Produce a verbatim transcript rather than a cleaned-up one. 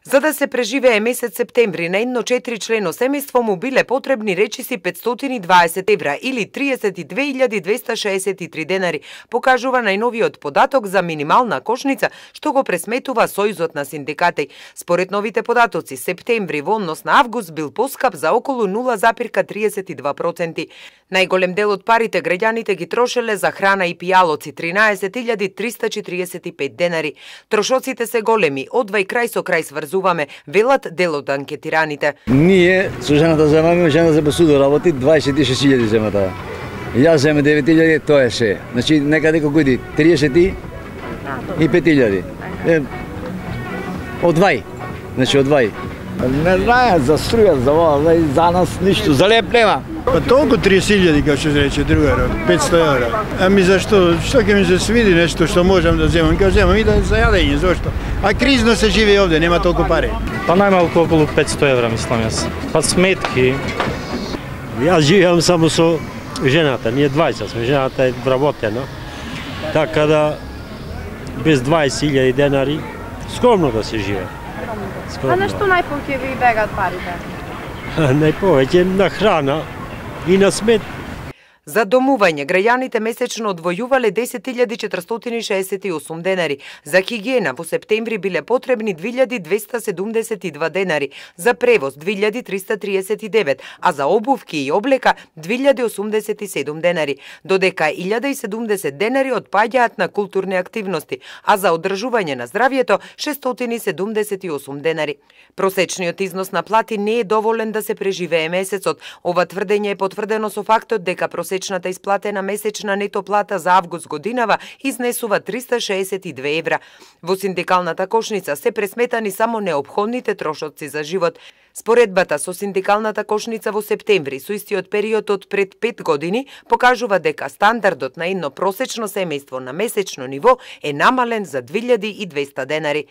За да се преживее месец септември на едно четиричлено семејство му биле потребни речиси петстотини и дваесет евра или триесет и две илјади двеста шеесет и три денари, покажува најновиот податок за минимална кошница што го пресметува Сојузот на синдикати. Според новите податоци, септември во однос на август бил поскап за околу нула запирка триесет и два проценти. Најголем дел од парите граѓаните ги трошеле за храна и пијалоци, тринаесет илјади триста четириесет и пет денари. Трошоците се големи, одвај крај со крај сврзуваме, велат дел од анкетираните. Ние со жената земаме, жена за посуду работи, дваесет и шест илјади земата. Јас земе девет илјади, тоа е се. Значи некаде колку иди, триесет и пет илјади. Одвај, значи одвај. Не знаем за струја, за ова, за нас ништо, за леп нема. Па толку триесет илјади, како што рече другарот, петсто евра. Ами зашто, што ќе ми се свиди нешто што можам да земам, ќе земам и да за јадење, зашто? А кризно се живее овде, нема толку пари. Па најмалку околу петсто евра, мислам јас. Па сметки. Јас живеам само со жената, ние двајца сме, жената е вработена. Така да, без дваесет илјади денари, скромно да се живее. А на што најповеќе ви бегат парите? Најповеќе на храна и на смет. За домување, граѓаните месечно одвојувале десет илјади четиристотини шеесет и осум денари. За хигиена во септември биле потребни две илјади двеста седумдесет и два денари. За превоз две илјади триста триесет и девет, а за обувки и облека две илјади осумдесет и седум денари. Додека илјада и седумдесет денари отпаѓаат на културни активности, а за одржување на здравјето шестстотини седумдесет и осум денари. Просечниот износ на плати не е доволен да се преживее месецот. Ова тврдење е потврдено со фактот дека просечната исплатена месечна нето плата за август годинава изнесува триста шеесет и две евра. Во синдикалната кошница се пресметани само неопходните трошоци за живот. Споредбата со синдикалната кошница во септември со истиот период од пред пет години покажува дека стандардот на едно просечно семејство на месечно ниво е намален за две илјади и двеста денари.